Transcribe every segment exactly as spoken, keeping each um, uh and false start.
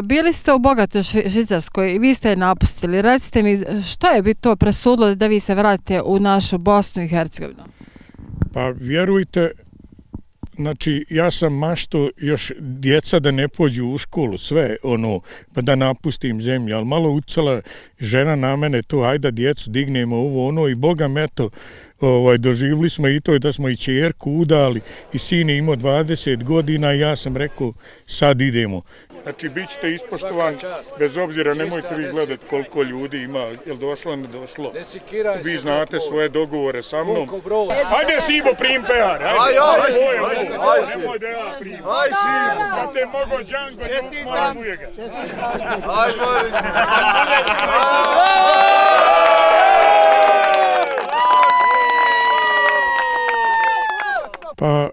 Bili ste u bogatoj Švicarskoj i vi ste je napustili. Recite mi, što je bi to presudilo da vi se vratite u našu Bosnu i Hercegovinu? Pa vjerujte, znači ja sam mašto još djeca da ne pođu u školu, sve ono, pa da napustim zemlju, ali malo ucala žena na mene to, ajde djecu dignemo ovo ono i Boga me to, ovaj, doživili smo i to da smo i čerku udali i sin je imao dvadeset godina i ja sam rekao sad idemo. Znači bit ćete ispoštovan, bez obzira nemojte vi gledati koliko ljudi ima, jel došlo ne došlo. Vi znate svoje dogovore sa mnom. Ajde Sibo prim pehar, ajde. Nemoj da ja primim. Aj Sibo. Kad te mogo Django, moram ujega. Aj moram. Pa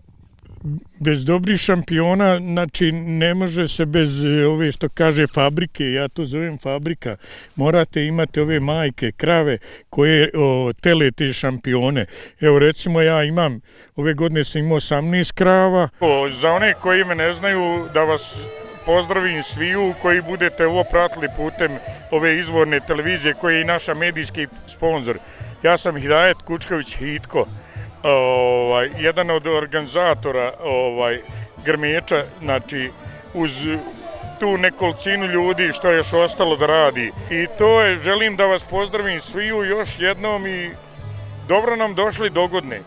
bez dobrih šampiona, znači ne može se bez ove što kaže fabrike, ja to zovem fabrika, morate imati ove majke, krave koje o, tele te šampione. Evo recimo ja imam, ove godine sam imao osamnaest krava. O, za one koji me ne znaju, da vas pozdravim sviju koji budete ovo pratili putem ove izvorne televizije koji je i naša medijski sponsor. Ja sam Hidajet Kučković Hitko. Ovaj, jedan od organizatora ovaj, grmeča, znači uz tu nekolicinu ljudi što je još ostalo da radi. I to je, želim da vas pozdravim sviju još jednom i dobro nam došli dogodne.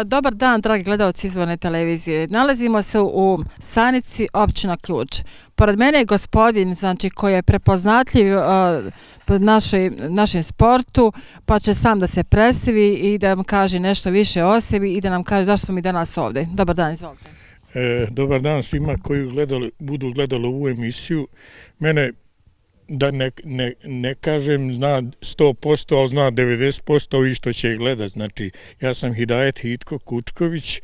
Dobar dan, dragi gledalci izvorne televizije. Nalazimo se u Sanici, općina Ključ. Pored mene je gospodin, znači, koji je prepoznatljiv uh, našoj, našem sportu, pa će sam da se predstavi i da nam kaže nešto više o sebi i da nam kaže zašto smo mi danas ovdje. Dobar dan, izvolite. E, dobar dan svima koji gledali, budu gledali ovu emisiju. Mene, da ne, ne, ne kažem, zna sto posto, ali zna devedeset posto ovi što će gledati. Znači, ja sam Hidajet Hitko Kučković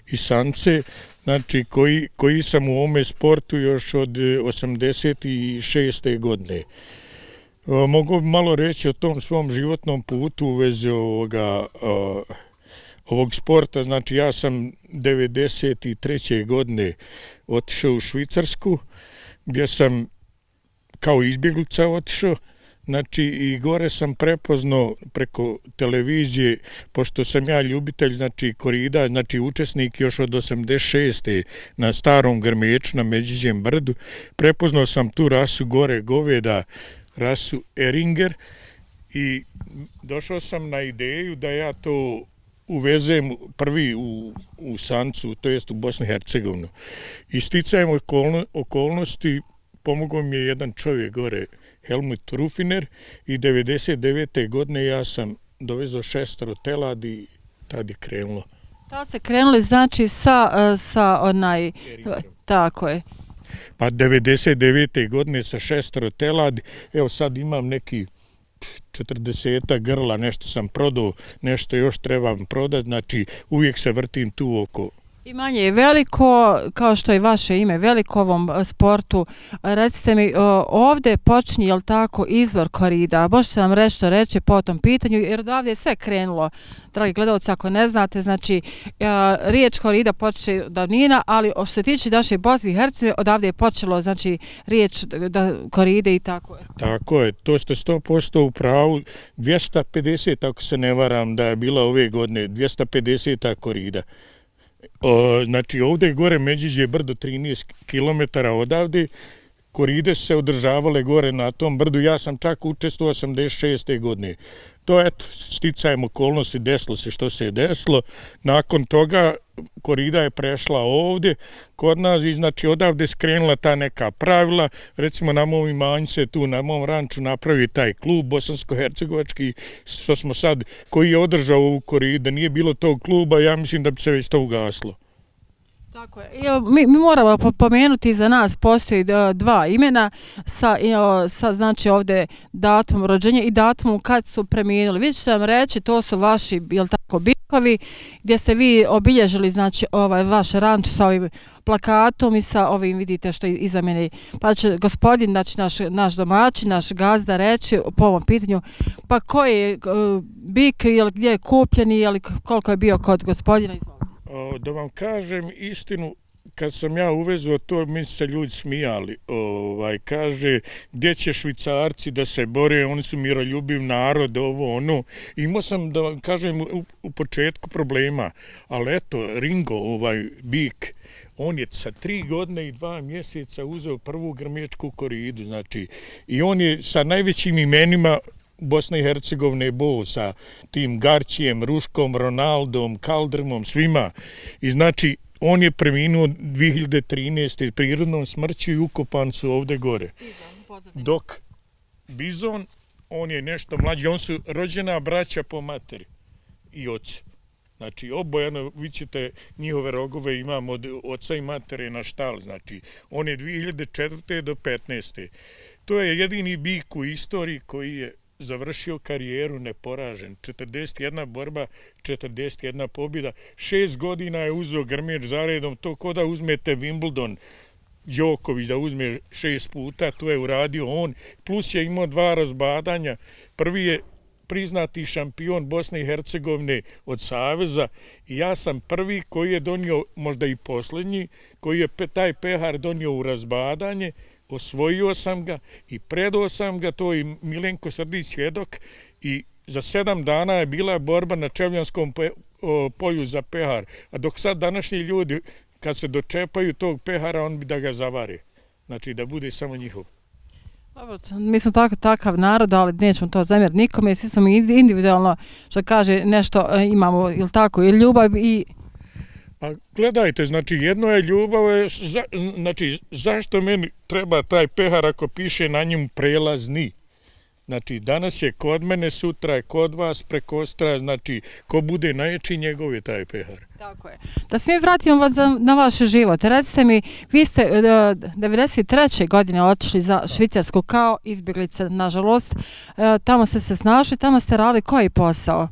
iz Sance, znači, koji, koji sam u ovome sportu još od osamdeset šeste godine. Mogu malo reći o tom svom životnom putu u vezi ovoga, ovog sporta. Znači, ja sam devedeset treće godine otišao u Švicarsku, gdje sam kao izbjeglica otišao, znači i gore sam prepoznao preko televizije, pošto sam ja ljubitelj, znači korida, znači učesnik još od osamdeset šeste na starom grmeču na Međiđem brdu, prepoznao sam tu rasu gore goveda, rasu Eringer i došao sam na ideju da ja to uvezem prvi u, u Sancu, to jest u Bosnu i Hercegovinu. I sticajem okolno, okolnosti pomogao mi je jedan čovjek gore, Helmut Rufiner, i devedeset devete godine ja sam dovezao šestero teladi i tad je krenulo. Tad se krenuli znači sa, sa onaj, tako je. Pa devedeset devete godine sa šestero teladi, evo sad imam neki četrdeseta grla, nešto sam prodao, nešto još trebam prodati, znači uvijek se vrtim tu oko. Imanje je veliko, kao što je vaše ime, veliko ovom sportu. Recite mi, ovdje počinje, jel tako, izvor korida? Možete nam reći što reći po tom pitanju, jer odavde je sve krenulo. Dragi gledalci, ako ne znate, znači, riječ korida počeće davnina, ali što se tiče naše Bosne i Hercegovine, odavde je počelo, znači, riječ da koride i tako. Tako je, to ste sto posto u pravu, dvjesto pedeset, ako se ne varam, da je bila ove godine, dvjesto pedeset korida. O, znači ovdje je gore Međiđe brdo trinaest kilometara odavde, koride su se održavale gore na tom brdu, ja sam čak učestvovao osamdeset šeste godine. To eto, sticajem okolnosti, desilo se što se je desilo, nakon toga korida je prešla ovdje kod nas i znači odavde skrenula ta neka pravila, recimo na mom imanju se tu na mom ranču napravi taj klub bosansko-hercegovački što smo sad, koji je održao ovu koridu, da nije bilo tog kluba, ja mislim da bi se već to ugaslo. Tako je. Mi, mi moramo pomenuti, za nas postoji dva imena sa, sa znači ovdje datumom rođenja i datumom kad su premijenuli. Vi ćete nam reći, to su vaši, jel tako, bikovi, gdje ste vi obilježili, znači, ovaj vaš ranč sa ovim plakatom i sa ovim, vidite što je iza mene. Pa će gospodin, znači naš, naš domaćin, naš gazda reći po ovom pitanju, pa koji je uh, bik, jel, gdje je kupljen i jel, koliko je bio kod gospodina, izvolite. Da vam kažem istinu, kad sam ja uvezao to, mi se ljudi smijali. Ovaj, kaže, gdje će Švicarci da se bore, oni su miroljubiv narod, ovo, ono. Imao sam, da vam kažem, u, u početku problema, ali eto, Ringo, ovaj bik, on je sa tri godine i dva mjeseca uzeo prvu grmečku koridu, znači, i on je sa najvećim imenima Bosne i Hercegovine bo, sa tim Garčijem, Ruškom, Ronaldom, Kaldrmom, svima. I znači, on je preminuo dvije hiljade trinaeste prirodnom smrću i ukopan su ovde gore. Dok Bizon, on je nešto mlađi, on su rođena braća po materi i ocu. Znači, obojano, vi ćete njihove rogove imam od oca i matere na štal, znači, on je dvije hiljade četvrte do petnaeste. To je jedini bik u istoriji koji je završio karijeru neporažen. četrdeset jedna borba, četrdeset jedna pobjeda. Šest godina je uzeo grmeč zaredom, to ko da uzmete Wimbledon, Đoković da uzme šest puta, to je uradio on, plus je imao dva razbadanja. Prvi je priznati šampion Bosne i Hercegovine od Saveza i ja sam prvi koji je donio, možda i posljednji, koji je taj pehar donio u razbadanje, osvojio sam ga i predao sam ga, to i Milenko Srdić svjedok, i za sedam dana je bila borba na Čevljanskom polju za pehar, a dok sad današnji ljudi kad se dočepaju tog pehara, on bi da ga zavare, znači da bude samo njihov. Dobro, mi smo tako, takav narod, ali nećemo to zamjeriti nikome, svi smo individualno, što kaže, nešto imamo, ili tako, i ljubav i... Pa gledajte, znači jedno je ljubav, za, znači zašto meni treba taj pehar ako piše na njemu prelazni? Znači danas je kod mene, sutra je kod vas, prekostra, znači ko bude najjači njegov je taj pehar. Tako je. Da se mi vratimo vas na vaš život. Recite mi, vi ste devedeset treće godine otišli za Švicarsku kao izbjeglica, nažalost. Tamo ste se snašli, tamo ste radili koji posao?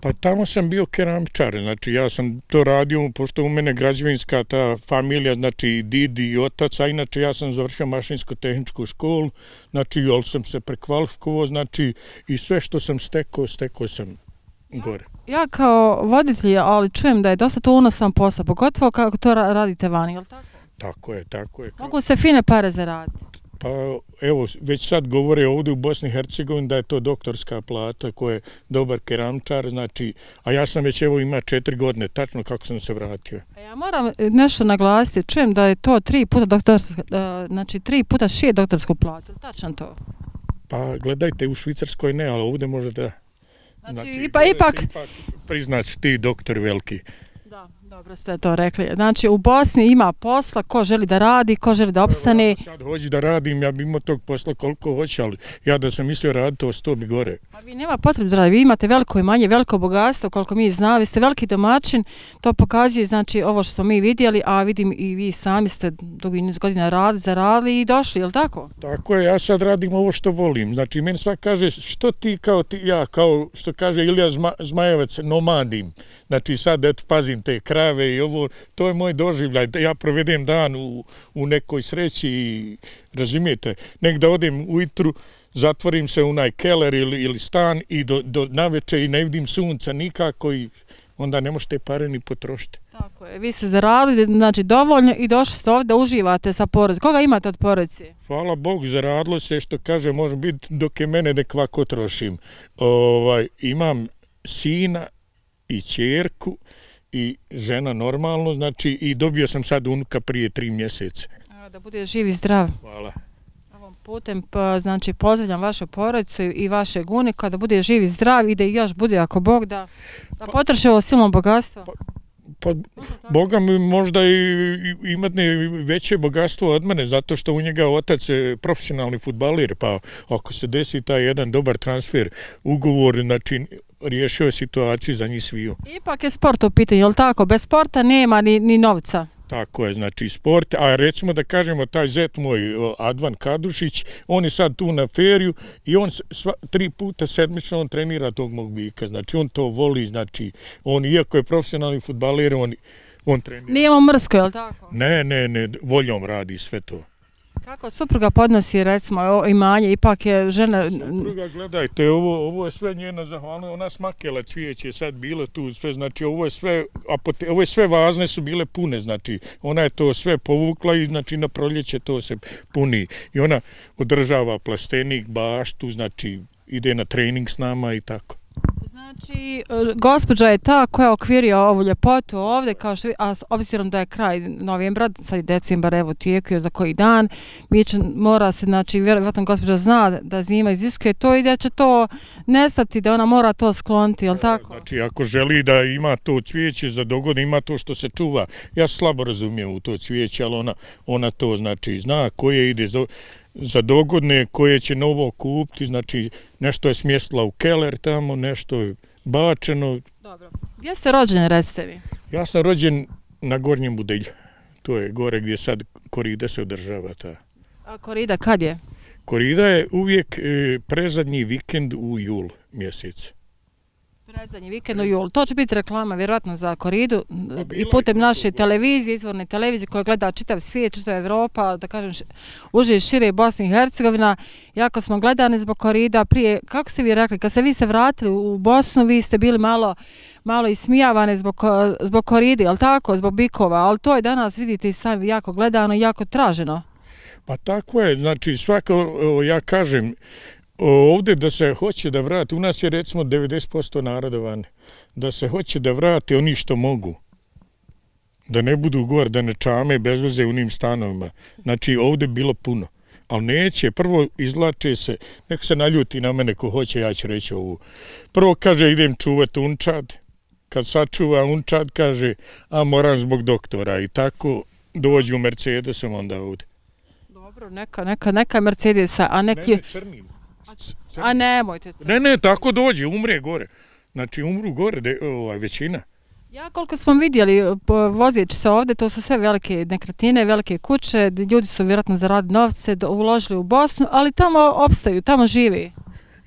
Pa tamo sam bio keramčar, znači ja sam to radio, pošto u mene građevinska ta familija, znači didi i otac, a inače ja sam završio mašinsko-tehničku školu, znači ali sam se prekvalifikovao, znači i sve što sam stekao, stekao sam gore. Ja, ja kao voditelj, ali čujem da je dosta to unosan posao, pogotovo kako to radite vani, je li tako? Tako je, tako je. Mogu se fine pare zaraditi? Pa evo, već sad govore ovdje u Bosni i Hercegovini da je to doktorska plata koja je dobar keramčar, znači, a ja sam već evo ima četiri godine, tačno kako sam se vratio. A ja moram nešto naglasiti, čujem da je to tri puta doktorska, znači tri puta šije doktorsku platu, tačno to? Pa gledajte, u Švicarskoj ne, ali ovdje može da. Znači, znači ipak... ipak... ipak priznat ti doktor veliki. Da, dobro ste to rekli. Znači, u Bosni ima posla, ko želi da radi, ko želi da opstane. Evo, sad hoći da radim, ja bi imao tog posla koliko hoće, ali ja da sam mislio raditi, to sto bi gore. A vi nema potrebe da radite, vi imate veliko imanje, veliko bogatstvo, koliko mi znamo, vi ste veliki domaćin, to pokazuje, znači, ovo što smo mi vidjeli, a vidim i vi sami ste dugi niz godina radili, zaradili i došli, je li tako? Tako je, ja sad radim ovo što volim. Znači, meni svak kaže, što ti kao ti, ja, kao što kaže Ilija Zma, Zmajevac, nomadim. Znači, sad, eto, pazim te krave i ovo, to je moj doživljaj. Ja provedem dan u, u nekoj sreći i, razumijete, nek da odem ujutru, zatvorim se u onaj keller ili, ili stan i do, do naveče i ne vidim sunca nikako i onda ne možete pare ni potrošiti. Tako je, vi ste zaradili, znači dovoljno i došli ste ovdje da uživate sa porodicom. Koga imate od porodice? Hvala Bogu, zaradilo se što kaže, može biti dok je mene nek ovako trošim. Ovaj, imam sina i ćerku i žena normalno, znači i dobio sam sad unuka prije tri mjeseca. Da bude živ i zdrav. Hvala. Ovom putem, znači, pozdravljam vašu porodicu i vašeg unika, da bude živ i zdrav i da još bude, ako Bog, da, da potroši ovo silno bogatstvo. Pa, pa Boga mi možda i imati veće bogatstvo od mene, zato što u njega otac je profesionalni fudbaler, pa ako se desi taj jedan dobar transfer, ugovor, znači, riješio je situaciju za njih sviju. Ipak je sport u pitanju, je li tako? Bez sporta nema ni, ni novca. Tako je, znači sport, a recimo da kažemo taj zet moj Advan Kadušić, on je sad tu na feriju i on sva, tri puta sedmično on trenira tog mog bika, znači on to voli, znači on iako je profesionalni fudbaler, on, on trenira. Nijemo mrsko, je li tako? Ne, ne, ne, voljom radi sve to. Kako supruga podnosi, recimo, imanje, ipak je žena... Supruga, gledajte, ovo, ovo je sve njena zahvalna, ona smakela cvijeće, sad bilo tu sve, znači ovo je sve, apote, ovo je sve vazne su bile pune, znači ona je to sve povukla i znači na proljeće to se puni. I ona održava plastenik, baštu, znači ide na trening s nama i tako. Znači, gospođa je ta koja okvirio ovu ljepotu ovdje, kao što, a obzirom da je kraj novembra, sad je decembar, evo tijekuje za koji dan, mi će, mora se, znači, vjerojatno gospođa zna da zima iziskuje to i da će to nestati, da ona mora to skloniti, jel tako? Znači, ako želi da ima to cvijeće za dogodne, ima to što se čuva. Ja slabo razumijem u to cvijeće, ali ona, ona to, znači, zna koje ide za... za dogodne koje će novo kupiti, znači nešto je smjestila u keller tamo, nešto je bačeno. Dobro. Gdje ste rođeni, recite vi? Ja sam rođen na Gornjem Budelju. To je gore gdje sad korida se održava. Ta. A korida kad je? Korida je uvijek e, prezadnji vikend u jul mjesec. Predzadnji vikend u julu. To će biti reklama vjerojatno za koridu i putem naše televizije, izvorne televizije koje gleda čitav svijet, čitav Evropa, da kažem uže i šire Bosne i Hercegovina. Jako smo gledani zbog korida prije, kako ste vi rekli, kad ste vi se vratili u Bosnu, vi ste bili malo malo ismijavane zbog, zbog koride, ali tako, zbog bikova, ali to je danas, vidite, sami jako gledano i jako traženo. Pa tako je, znači svako, ja kažem, ovdje da se hoće da vrati, u nas je recimo devedeset posto naroda vani, da se hoće da vrati oni što mogu, da ne budu gore, da ne čame bez veze u njim stanovima. Znači ovdje bilo puno, ali neće, prvo izlače se, nek se naljuti na mene ko hoće, ja ću reći ovu. Prvo kaže idem čuvati unčad, kad sačuva unčad kaže, a moram zbog doktora i tako dođu u Mercedesom onda ovdje. Dobro, neka, neka, neka Mercedesa, a neki... Ne, ne, crnim. A nemojte. Ne, ne, tako dođe, umre gore. Znači umru gore de, ovaj, većina. Ja koliko smo vidjeli vozeći se ovdje, to su sve velike nekretnine, velike kuće, ljudi su vjerojatno zaradili novce, uložili u Bosnu, ali tamo opstaju, tamo živi.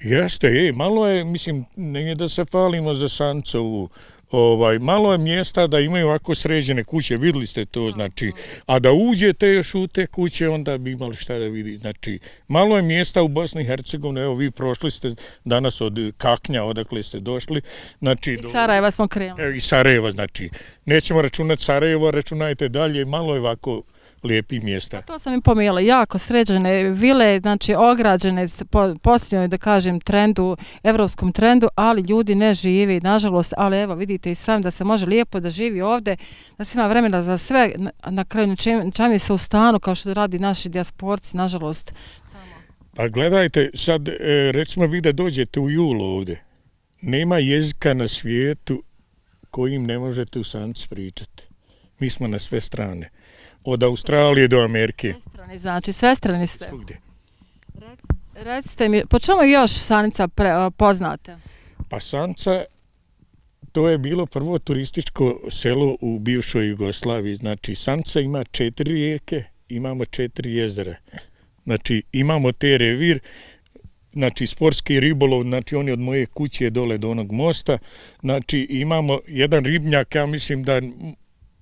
Jeste, je, malo je, mislim, nije da se falimo za Sancovu, ovaj, malo je mjesta da imaju ovako sređene kuće, vidjeli ste to, znači, a da uđete još u te kuće, onda bi imali šta da vidi, znači, malo je mjesta u Bosni i Hercegovini, evo vi prošli ste danas od Kaknja, odakle ste došli, znači... I Sarajeva smo krenuli. Evo, i Sarajeva, znači, nećemo računati Sarajevo, računajte dalje, malo je ovako lijepih mjesta. A to sam im pomijela, jako sređene vile, znači ograđene po posljednjoj, da kažem, trendu, evropskom trendu, ali ljudi ne živi, nažalost, ali evo vidite i sam da se može lijepo da živi ovdje, da se ima vremena za sve, na, na kraju čami se u stanu, kao što radi naši dijasporci, nažalost. Pa gledajte, sad recimo vi da dođete u julu ovdje, nema jezika na svijetu kojim ne možete u Sanci pričati. Mi smo na sve strane. Od Australije do Amerike. Sve strane, znači sve strane ste. Svugdje. Rec, recite mi, po čemu još Sanica pre, poznate? Pa Sanica, to je bilo prvo turističko selo u bivšoj Jugoslaviji. Znači, Sanica ima četiri rijeke, imamo četiri jezera. Znači, imamo te revir, znači sportski ribolov, znači on je od moje kuće dole do onog mosta. Znači, imamo jedan ribnjak, ja mislim da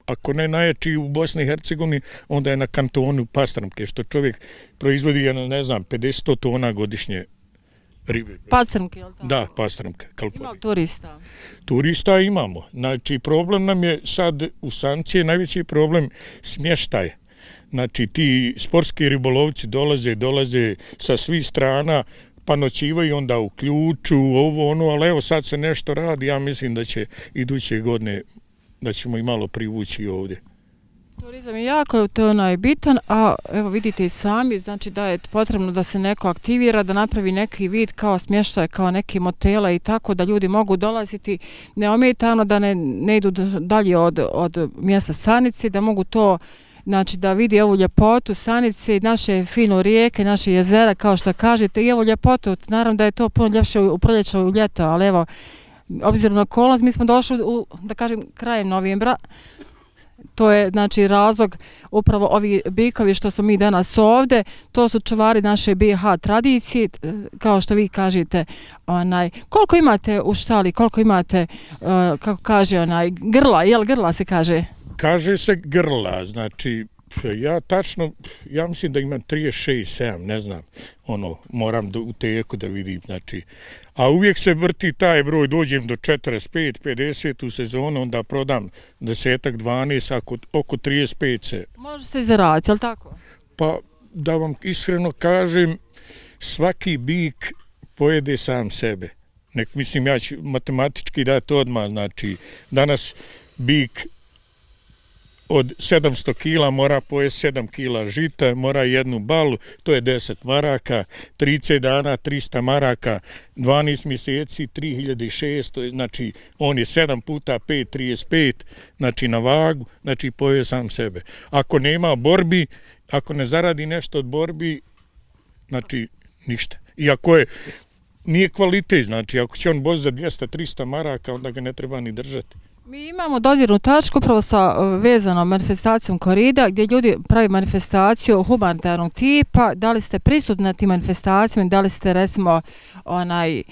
ako ne najjači u Bosni i Hercegovini, onda je na kantonu Pastrmke, što čovjek proizvodi, ne znam, pedeset tona godišnje ribe. Pastrmke, je li tako? Da, Pastrmke. Ima turista? Turista imamo. Znači, problem nam je sad u Sanci, najveći problem smještaj. Znači, ti sportski ribolovci dolaze, dolaze sa svih strana, pa noćivaju onda u Ključu, ovo, ono, ali evo sad se nešto radi, ja mislim da će iduće godine da ćemo i malo privući ovdje. Turizam je jako to onaj bitan, a evo vidite i sami, znači da je potrebno da se neko aktivira, da napravi neki vid kao smještaj, kao neki motela i tako da ljudi mogu dolaziti neometano, da ne, ne idu dalje od, od mjesta Sanice, da mogu to, znači da vidi ovu ljepotu Sanice, naše fino rijeke, naše jezera, kao što kažete, i evo ljepotu, naravno da je to puno ljepše u proljeće u ljeto, ali evo, obzirom na okolnost, mi smo došli u, da kažem, krajem novembra. To je, znači, razlog upravo ovi bikovi što smo mi danas ovdje. To su čuvari naše B i H tradicije, kao što vi kažete. Onaj, koliko imate u štali, koliko imate, uh, kako kaže, onaj, grla, jel grla se kaže? Kaže se grla, znači, Ja tačno, ja mislim da imam trideset šest sedam, ne znam, ono, moram do, u teku da vidim, znači. A uvijek se vrti taj broj, dođem do četrdeset pet pedeset u sezonu, onda prodam desetak dvanaest, ako oko trideset pet se. Može se i zaraditi, je li tako? Pa, da vam iskreno kažem, svaki bik pojede sam sebe. Nek, mislim, ja ću matematički dati odmah, znači, danas bik od sedamsto kila mora pojesti sedam kila žita, mora jednu balu, to je deset maraka, trideset dana, trista maraka, dvanaest mjeseci, tri hiljade šesto, znači on je sedam puta pet, trideset pet, znači na vagu, znači pojeo sam sebe. Ako nema borbi, ako ne zaradi nešto od borbi, znači ništa. I ako je, nije kvalitet, znači ako će on boz za dvjesto trista maraka, onda ga ne treba ni držati. Mi imamo dodirnu tačku upravo sa vezanom manifestacijom korida, gdje ljudi pravi manifestaciju humanitarnog tipa. Da li ste prisutni na tim manifestacijama, da li ste recimo onaj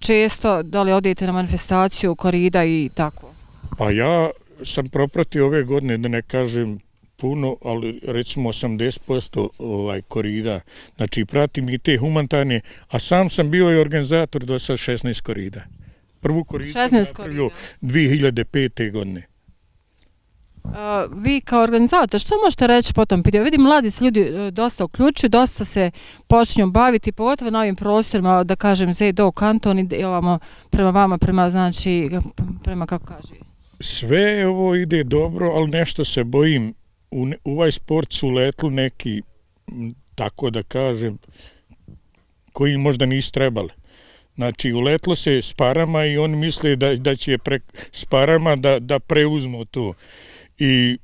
često, da li odete na manifestaciju korida i tako? Pa ja sam propratio ove godine, da ne kažem puno, ali recimo osamdeset posto ovaj korida, znači pratim i te humanitarne, a sam sam bio i organizator do sad šesnaest korida. Prvu koridu sam napravio dvije hiljade pete. godine. Uh, vi kao organizator, što možete reći po tom pitanju? Vidim, mladi se ljudi uh, dosta uključuju, dosta se počinju baviti, pogotovo na ovim prostorima, da kažem, Zedo, kanton i ovamo prema vama, prema, znači, prema, kako kaže? Sve ovo ide dobro, ali nešto se bojim. U, u ovaj sport su uletli neki, tako da kažem, koji možda nisu trebali. Znači, uletlo se s parama i oni misle da, da će pre, s parama da, da preuzmu to. I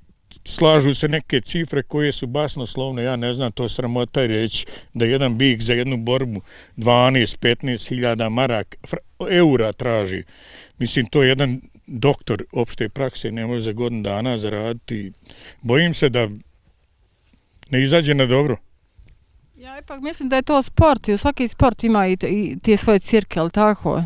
slažu se neke cifre koje su basnoslovne, ja ne znam, to sramota je reći da jedan bik za jednu borbu dvanaest petnaest hiljada marak, eura traži. Mislim, to je jedan doktor opšte prakse, ne može za godinu dana zaraditi. Bojim se da ne izađe na dobro. Ja ipak mislim da je to sport i svaki sport ima i, i tije svoje cirke, ali tako?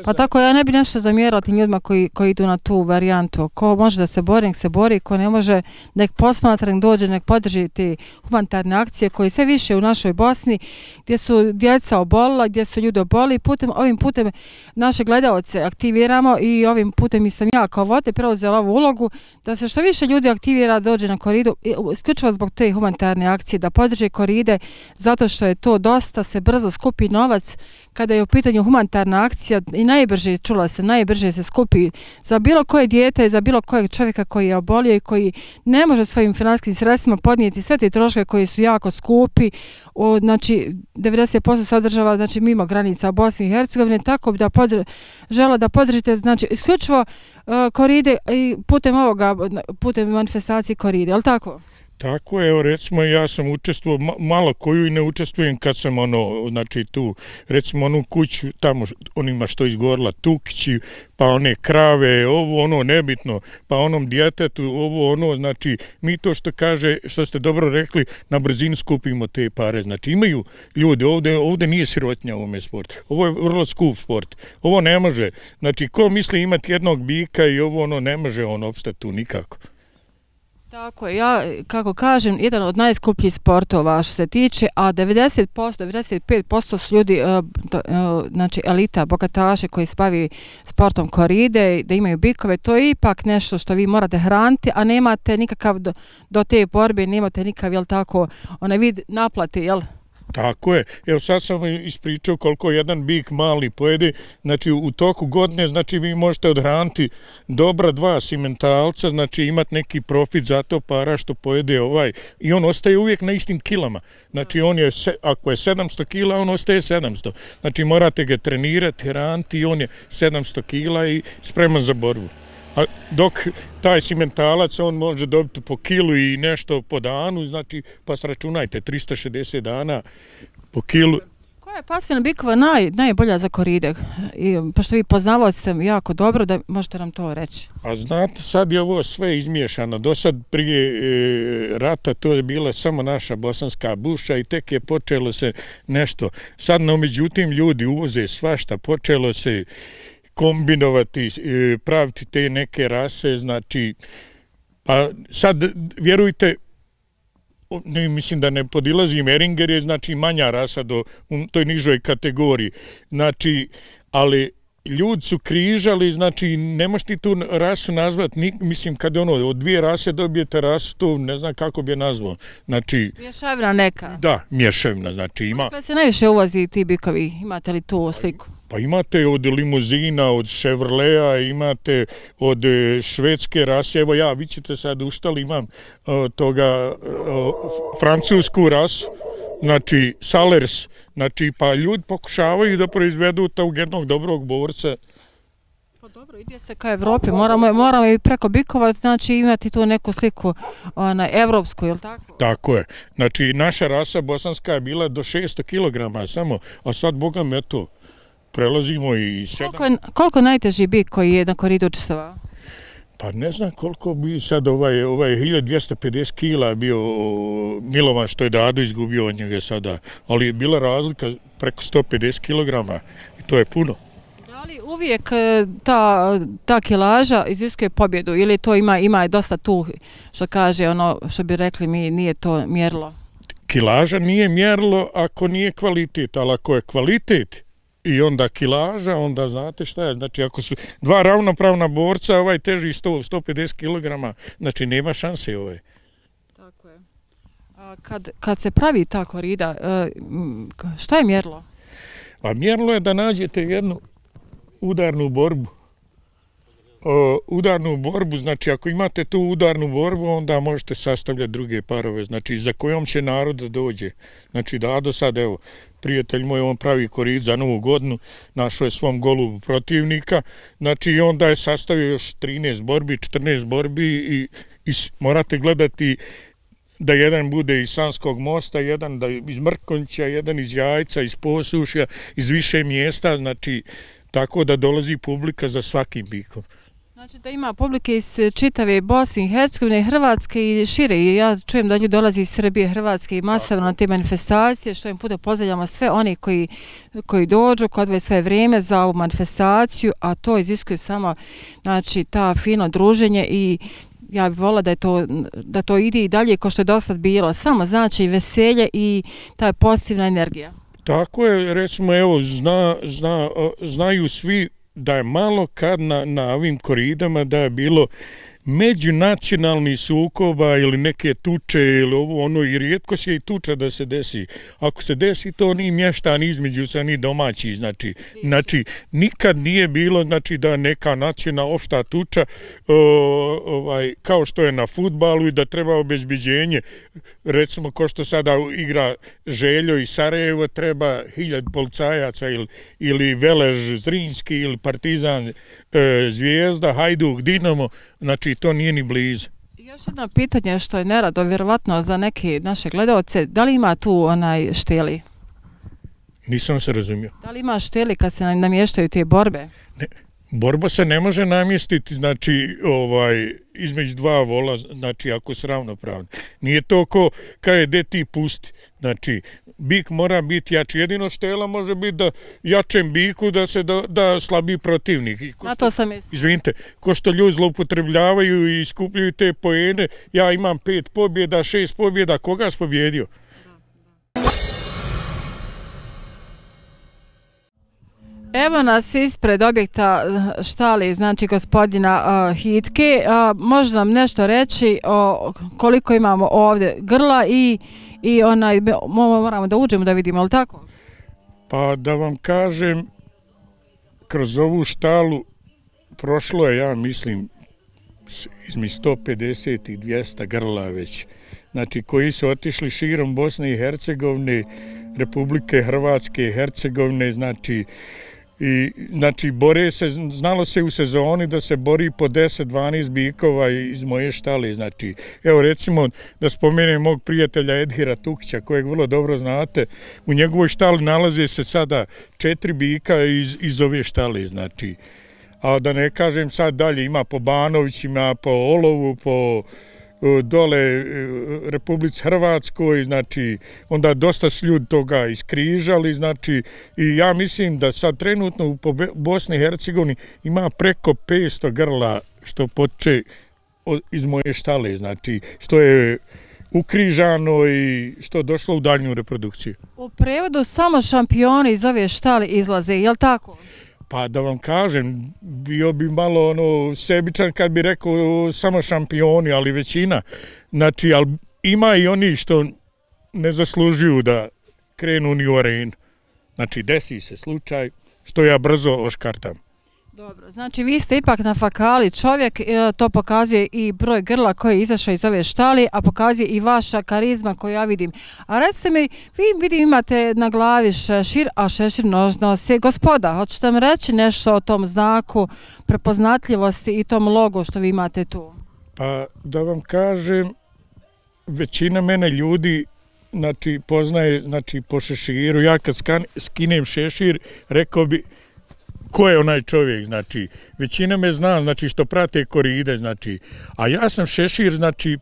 Pa tako ja ne bi nešto zamjerala tim ljudima koji, koji idu na tu varijantu. Ko može da se bori, nek se bori, ko ne može, nek posmatra, nek dođe, nek podrži te humanitarne akcije koje sve više u našoj Bosni, gdje su djeca obolila, gdje su ljudi oboli. Putem, ovim putem naše gledalce aktiviramo i ovim putem i sam ja kao vode preuzela ovu ulogu da se što više ljudi aktivira, dođe na koridu, isključivo zbog te humanitarne akcije, da podrže koride, zato što je to dosta, se brzo skupi novac kada je u pitanju humanitarna akcija i najbrže, čula sam, najbrže se skupi za bilo koje dijete, za bilo kojeg čovjeka koji je obolio i koji ne može svojim finansijskim sredstvima podnijeti sve te troške koji su jako skupi. O, znači, devedeset posto se održava, znači, mimo granica Bosne i Hercegovine, tako da podr žela da podržite, znači, isključivo uh, koride i putem ovoga, putem manifestacije koride, je li tako? Tako je, evo recimo ja sam učestvovao, malo koju i ne učestvujem kad sam ono, znači tu, recimo onu kuću tamo onima što izgorila Tukići, pa one krave, ovo ono nebitno, pa onom djetetu, ovo ono, znači mi to što kaže, što ste dobro rekli, na brzinu skupimo te pare, znači imaju ljudi, ovdje, ovdje nije sirotnja u ovome sportu, ovo je vrlo skup sport, ovo ne može, znači ko misli imati jednog bika i ovo ono ne može on opstati tu nikako. Tako je, ja, kako kažem, jedan od najskupljih sportova što se tiče, a devedeset posto, devedeset pet posto su ljudi, uh, uh, znači elita, bogataše koji se bavi sportom koride, da imaju bikove, to je ipak nešto što vi morate hraniti, a nemate nikakav do, do te borbe, nemate nikakav, jel tako, onaj vid naplate, jel? Tako je. Evo sad sam ispričao koliko jedan bik mali pojede. Znači u toku godine znači vi možete odhraniti dobra dva simentalca, znači imati neki profit za to para što pojede ovaj. I on ostaje uvijek na istim kilama. Znači on je, ako je sedamsto kila, on ostaje sedamsto. Znači morate ga trenirati, hraniti i on je sedamsto kila i spreman za borbu. A dok taj simentalac, on može dobiti po kilu i nešto po danu, znači, pa sračunajte, trista šezdeset dana po kilu. Koja je pasmina bikova naj, najbolja za koride? I, pošto vi poznavali ste jako dobro, da možete nam to reći. A znate, sad je ovo sve izmiješano. Do sad prije e, rata to je bila samo naša bosanska buša i tek je počelo se nešto. Sad, no, međutim, ljudi uvoze svašta, počelo se kombinovati, praviti te neke rase, znači, pa sad, vjerujte, ne, mislim da ne podilazi, Meringer je znači manja rasa do, u toj nižoj kategoriji, znači, ali ljudi su križali, znači ne možeš ti tu rasu nazvati, ni, mislim kad ono od dvije rase dobijete rasu, to ne znam kako bi je nazvao. Znači, mješavina neka? Da, mješavina, znači ima... Kako se najviše uvozi ti bikovi, imate li tu sliku? Pa imate od limuzina, od Chevroleta, imate od švedske rase, evo ja, vi ćete sad uštali, imam uh, toga uh, francusku rasu, znači Salers, znači pa ljudi pokušavaju da proizvedu tog jednog dobrog borca. Pa dobro, ide se ka Evropi, moramo, moramo i preko bikova, znači imati tu neku sliku ona, evropsku, je li tako? Tako je, znači naša rasa bosanska je bila do šesto kilograma samo, a sad boga me to, prelazimo i sedam... Koliko je, koliko najteži bik koji je na koridu učestvovao? Pa ne znam koliko bi sad ovaj, ovaj hiljadu dvjesto pedeset kila bio Milovan što je Dado izgubio od njega sada, ali je bila razlika preko sto pedeset kilograma i to je puno. Da li uvijek ta, ta kilaža iziskuje pobjedu ili to ima, ima dosta tu što kaže ono što bi rekli mi nije to mjerilo? Kilaža nije mjerilo ako nije kvalitet, ali ako je kvalitet i onda kilaža, onda znate šta je, znači ako su dva ravnopravna borca, ovaj teži sto do sto pedeset kilograma, znači nema šanse ovaj. Tako je. A kad, kad se pravi ta korida, šta je mjerilo? A mjerilo je da nađete jednu udarnu borbu. O, udarnu borbu, znači ako imate tu udarnu borbu, onda možete sastavljati druge parove, znači za kojom će narod da dođe. Znači da do sad, evo, prijatelj moj, on pravi korid za novu godinu, našao je svom golubu protivnika, znači onda je sastavio još trinaest borbi, četrnaest borbi i, i morate gledati da jedan bude iz Sanskog mosta, jedan da iz Mrkonjića, jedan iz Jajca, iz Posušja, iz više mjesta, znači tako da dolazi publika za svakim bikom. Znači da ima publike iz čitave Bosne i Hercegovine, Hrvatske i šire. I ja čujem da ljudi dolazi iz Srbije, Hrvatske i masovno na te manifestacije, što im puno pozdravljamo sve oni koji, koji dođu, koji odvoje svoje vrijeme za ovu manifestaciju, a to iziskuje samo znači, ta fino druženje i ja bih volila da, je to, da to ide i dalje kao što je do sad bilo. Samo znači veselje i ta pozitivna energija. Tako je, recimo, evo, zna, zna, znaju svi da je malo kad na, na ovim koridama da je bilo međunacionalni sukoba ili neke tuče ili ovo ono i rijetko se i tuča da se desi. Ako se desi to ni mještan između sa ni domaći, znači, znači nikad nije bilo znači da neka nacionalna opšta tuča o, ovaj, kao što je na fudbalu i da treba obezbeđenje, recimo ko što sada igra Željo i Sarajevo treba hiljad policajaca ili, ili Velež Zrinski ili Partizan e, Zvijezda, Hajduk, Dinamo, znači to nije ni blizu. Još jedno pitanje što je nerado, vjerovatno za neke naše gledalce, da li ima tu onaj šteli? Nisam se razumio. Da li ima šteli kad se namještaju te borbe? Ne, borba se ne može namjestiti, znači, ovaj, između dva vola, znači, ako su ravnopravni. Nije to ko kada je de ti pusti. Znači, bik mora biti jači. Jedino štela može biti da jačem biku da se da, da slabi protivnik. Na to sam mislim. Izvinite, ko što ljudi zloupotrebljavaju i skupljaju te poene, ja imam pet pobjeda, šest pobjeda, koga si pobjedio? Evo nas ispred objekta štali, znači gospodina uh, Hitke. Uh, može nam nešto reći o koliko imamo ovdje grla i, i onaj, moramo da uđemo da vidimo, ali tako? Pa da vam kažem, kroz ovu štalu prošlo je, ja mislim, između sto pedeset i dvjesto grla već. Znači, koji su otišli širom Bosne i Hercegovine, Republike Hrvatske i Hercegovine, znači, i znači bore se, znalo se u sezoni da se bori po deset dvanaest bikova iz moje štale, znači evo recimo da spomenem mog prijatelja Edhira Tukića kojeg vrlo dobro znate, u njegovoj štali nalaze se sada četiri bika iz, iz ove štale, znači a da ne kažem sad dalje ima po Banovićima, po Olovu, po dole Republici Hrvatskoj, znači onda dosta su ljudi toga iskrižali, znači i ja mislim da sad trenutno u Bosni i Hercegovini ima preko petsto grla što poče iz moje štale, znači što je ukrižano i što došlo u daljnju reprodukciju. U prevodu samo šampioni iz ove štale izlaze, je li tako? Pa da vam kažem, bio bi malo ono sebičan kad bi rekao samo šampioni, ali većina. Znači, ali ima i oni što ne zaslužuju da krenu ni u arenu. Znači, desi se slučaj što ja brzo oškartam. Dobro, znači vi ste ipak na fakali čovjek, to pokazuje i broj grla koji je izašao iz ove štali, a pokazuje i vaša karizma koju ja vidim. A recite mi, vi vidim imate na glavi šešir, a šešir nosi gospoda. Hoćete mi reći nešto o tom znaku prepoznatljivosti i tom logu što vi imate tu? Pa da vam kažem, većina mene ljudi znači, poznaje znači, po šeširu. Ja kad skinem šešir, rekao bi ko je onaj čovjek, znači, većina me zna, znači, što prate koride, znači, a ja sam šešir, znači,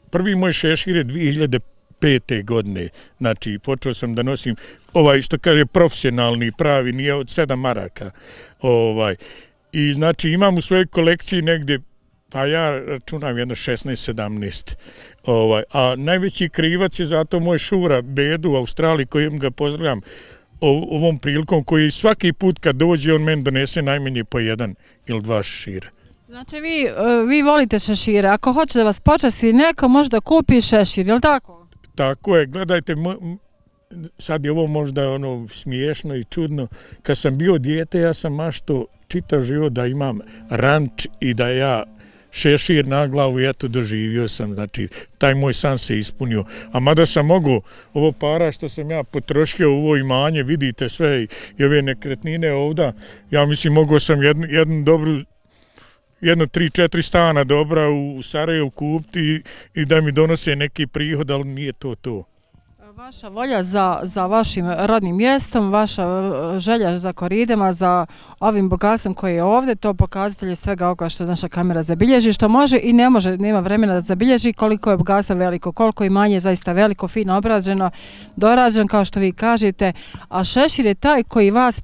prvi moj šešir je dvije hiljade pete. godine, znači, počeo sam da nosim, ovaj, što kaže, profesionalni, pravi, nije od sedam maraka, ovaj, i, znači, imam u svojoj kolekciji negdje, pa ja računam jedno šesnaest sedamnaest, ovaj, a najveći krivac je zato moj šura, Bedu u Australiji, kojim ga pozdravljam, ovom prilikom koji svaki put kad dođe on meni donese najmanje po jedan ili dva šešira. Znači vi, vi volite šešire, ako hoće da vas počasti neko može da kupi šešir, je li tako? Tako je, gledajte, sad je ovo možda ono smiješno i čudno, kad sam bio dijete ja sam mašto čitav život da imam ranč i da ja šešir na glavu i eto doživio sam, znači taj moj san se ispunio. A mada sam mogu ovo para što sam ja potrošio u ovo imanje, vidite sve i ove nekretnine ovda, ja mislim mogao sam jednu, jednu dobru, jedno tri, četiri stana dobra u Sarajevu kupiti i, i da mi donose neki prihod, ali nije to to. Vaša volja za, za vašim rodnim mjestom, vaša želja za koridama, za ovim bogatstvom koji je ovdje, to pokazatelj je svega ovoga što naša kamera zabilježi, što može i ne može, nema vremena da zabilježi koliko je bogatstvo veliko, koliko imanje je zaista veliko, fino obrađeno, dorađen kao što vi kažete, a šešir je taj koji vas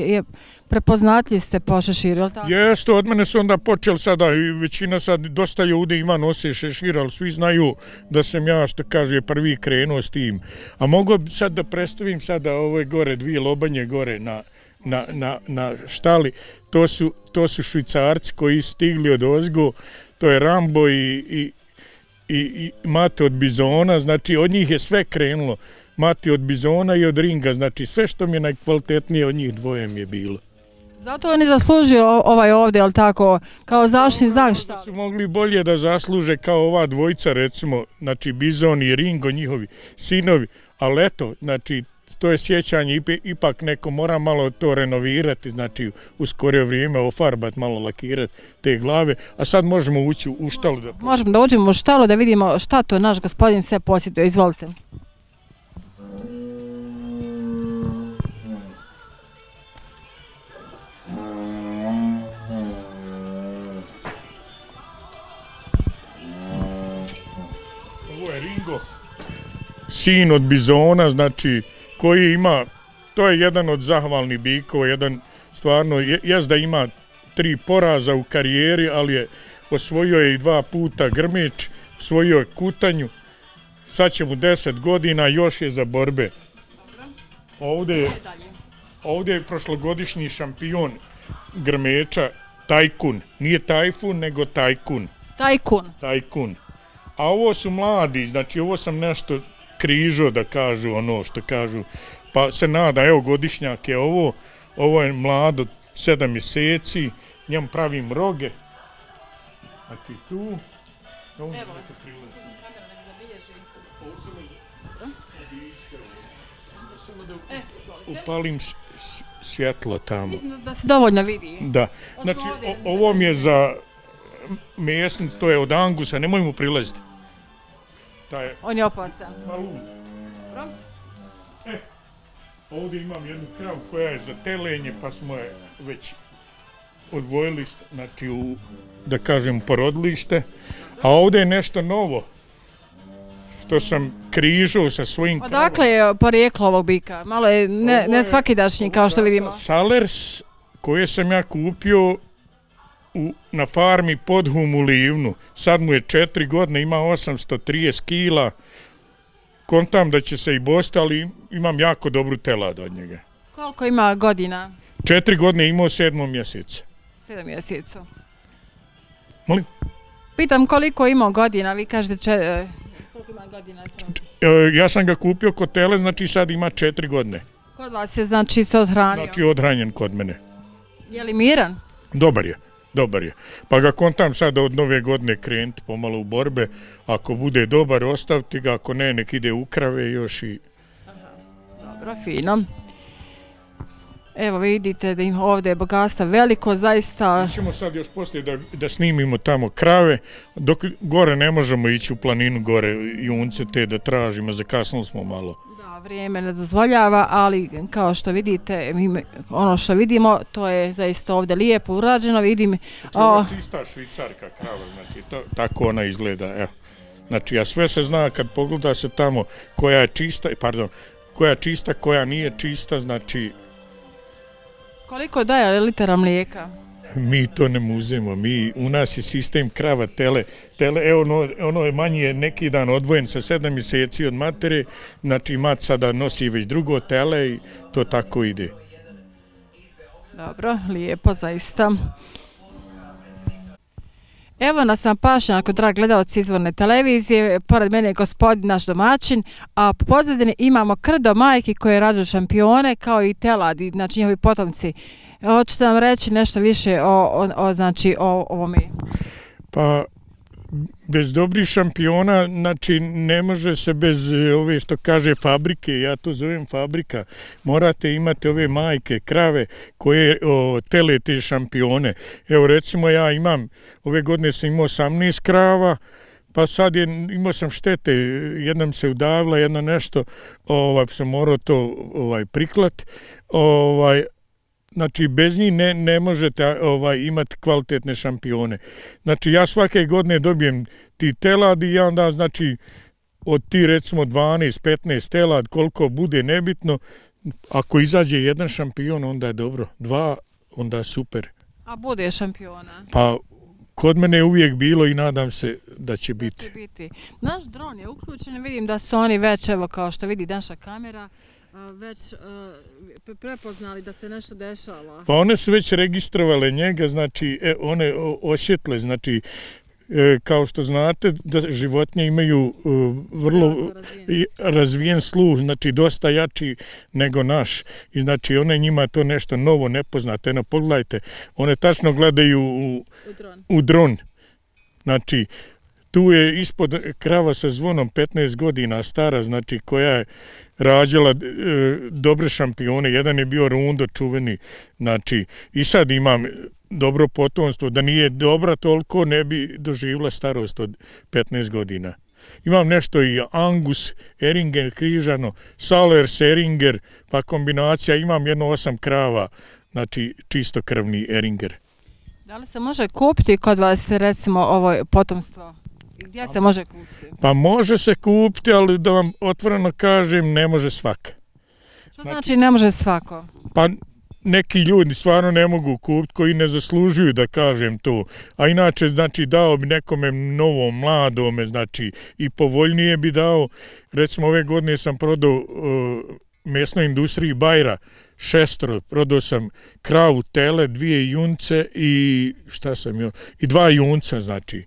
je prepoznatljiv ste po šeširu, je li tako? Jeste, od mene su onda počeli sada i većina sad, dosta ljudi ima nose šešir, ali svi znaju da sam ja, što kaže, prvi krenuo s tim. A mogu sad da predstavim sada ove gore, dvije lobanje gore na, na, na, na štali, to su, to su Švicarci koji stigli od ozgo, to je Rambo i, i, i, i Mate od Bizona, znači od njih je sve krenulo, Mate od Bizona i od Ringa, znači sve što mi je najkvalitetnije od njih dvoje mi je bilo. Zato on je zaslužio ovaj ovdje, je li tako, kao zaštitni znak šta? Su mogli bolje da zasluže kao ova dvojica, recimo, znači Bizon i Ringo, njihovi sinovi, ali eto, znači, to je sjećanje, ipak neko mora malo to renovirati, znači, u skorije vrijeme ofarbati, malo lakirati te glave, a sad možemo ući u štalu. Da... Možemo da uđemo u štalu da vidimo šta to naš gospodin sve posjetio, izvolite. Sin od Bizona, znači, koji ima, to je jedan od zahvalnih bikova, jedan stvarno, jes da ima tri poraza u karijeri, ali je osvojio je i dva puta grmeč, osvojio je kutanju, sad će mu deset godina, još je za borbe. Ovdje je, ovdje je prošlogodišnji šampion grmeča, Tajkun, nije Tajfun, nego Tajkun. Tajkun. Tajkun. A ovo su mladi, znači ovo sam nešto križo da kažu ono što kažu, pa se nada, evo godišnjak je ovo, ovo je mlado sedam mjeseci, njemu pravim roge, znači tu, evo da te priletim. Upalim svjetlo tamo. Mislim da se dovoljno vidi. Da, znači ovo mi je za mjesnic, to je od Angusa, nemoj mu prilaziti. Je... On je opasan. E, ovdje imam jednu kravu koja je za telenje, pa smo je već odvojili, znači u, da kažem, porodilište. A ovdje je nešto novo, što sam križao sa svojim kravama. Odakle je porijeklo ovog bika? Malo je ne, ne svakidašnji, kao što vidimo. Salers, koje sam ja kupio u, na farmi Podhum u Livnu. Sad mu je četiri godine, ima osamsto trideset kila. Kontam da će se i bosti, ali imam jako dobru telad od njega. Koliko ima godina? Četiri godine imao sedmom mjeseca. Sedam mjesecu. Molim? Pitam koliko ima godina, vi kažete če, koliko ima godina? Ja sam ga kupio kod tele, znači sad ima četiri godine. Kod vas je znači se odhranio? Znači odhranjen kod mene. Je li miran? Dobar je, dobar je. Pa ga kontam sad od nove godine krenuti pomalo u borbe. Ako bude dobar, ostaviti ga, ako ne, nek ide u krave još i... Aha, dobro, fino. Evo vidite da im ovdje je bogatstvo veliko, zaista... Mi ćemo sad još poslije da, da snimimo tamo krave, dok gore ne možemo ići u planinu, gore junce te da tražimo, zakasnili smo malo. Da, vrijeme ne dozvoljava, ali kao što vidite, ono što vidimo, to je zaista ovdje lijepo urađeno, vidim... To je čista švicarka krava, znači to, tako ona izgleda, evo. Znači, a sve se zna kad pogleda se tamo koja je čista, pardon, koja je čista, koja nije čista, znači... Koliko daje litara mlijeka? Mi to ne muzemo, mi, u nas je sistem krava, tele, tele, evo ono, ono je manje neki dan odvojen sa sedam mjeseci od matere, znači mat sada nosi već drugo tele i to tako ide. Dobro, lijepo zaista. Evo nas na pašnjaku, dragi gledalci Izvorne televizije, pored mene je gospodin naš domaćin, a po pozadini imamo krdo majki koje rađu šampione kao i teladi, znači njihovi potomci. Hoćete nam reći nešto više o, o, o, znači, o ovome? Pa, bez dobrih šampiona, znači ne može se bez ove što kaže fabrike, ja to zovem fabrika, morate imati ove majke, krave koje o, tele te šampione. Evo recimo ja imam, ove godine sam imao osamnaest krava, pa sad je, imao sam štete, jedna mi se udavila, jedna nešto, ovaj, sam morao to ovaj, priklat, ovaj, znači, bez njih ne, ne možete ovaj, imati kvalitetne šampione. Znači, ja svake godine dobijem ti telad i ja onda, znači, od ti recimo dvanaest petnaest telad, koliko bude nebitno, ako izađe jedan šampion, onda je dobro. Dva, onda je super. A bude šampiona? Pa, kod mene je uvijek bilo i nadam se da će biti. Da će biti. Naš dron je uključen, vidim da su oni već, evo kao što vidi naša kamera, već uh, prepoznali da se nešto dešava. Pa one su već registrovale njega, znači e, one osjetle, znači e, kao što znate da životinje imaju uh, vrlo razvijen. razvijen sluh, znači dosta jači nego naš. I znači one njima to nešto novo nepoznate. Eno, pogledajte, one tačno gledaju u, u, dron. u dron. Znači, tu je ispod krava sa zvonom petnaest godina stara, znači koja je rađala e, dobre šampione. Jedan je bio Rundo čuveni, znači i sad imam dobro potomstvo, da nije dobra toliko ne bi doživjela starost od petnaest godina. Imam nešto i Angus, Eringer, križano, Salers, Eringer, pa kombinacija, imam jedno osam krava, znači čistokrvni Eringer. Da li se može kupiti kod vas recimo ovo potomstvo? Gdje se može kupiti? Pa može se kupiti, ali da vam otvoreno kažem, ne može svaka. Što znači, znači ne može svako? Pa neki ljudi stvarno ne mogu kupiti koji ne zaslužuju da kažem to. A inače, znači, dao bi nekome novom, mladome, znači, i povoljnije bi dao. Recimo, ove godine sam prodao uh, mesnoj industriji Bajra šestro, prodao sam kravu, tele, dvije junce i šta sam jo, i dva junca, znači.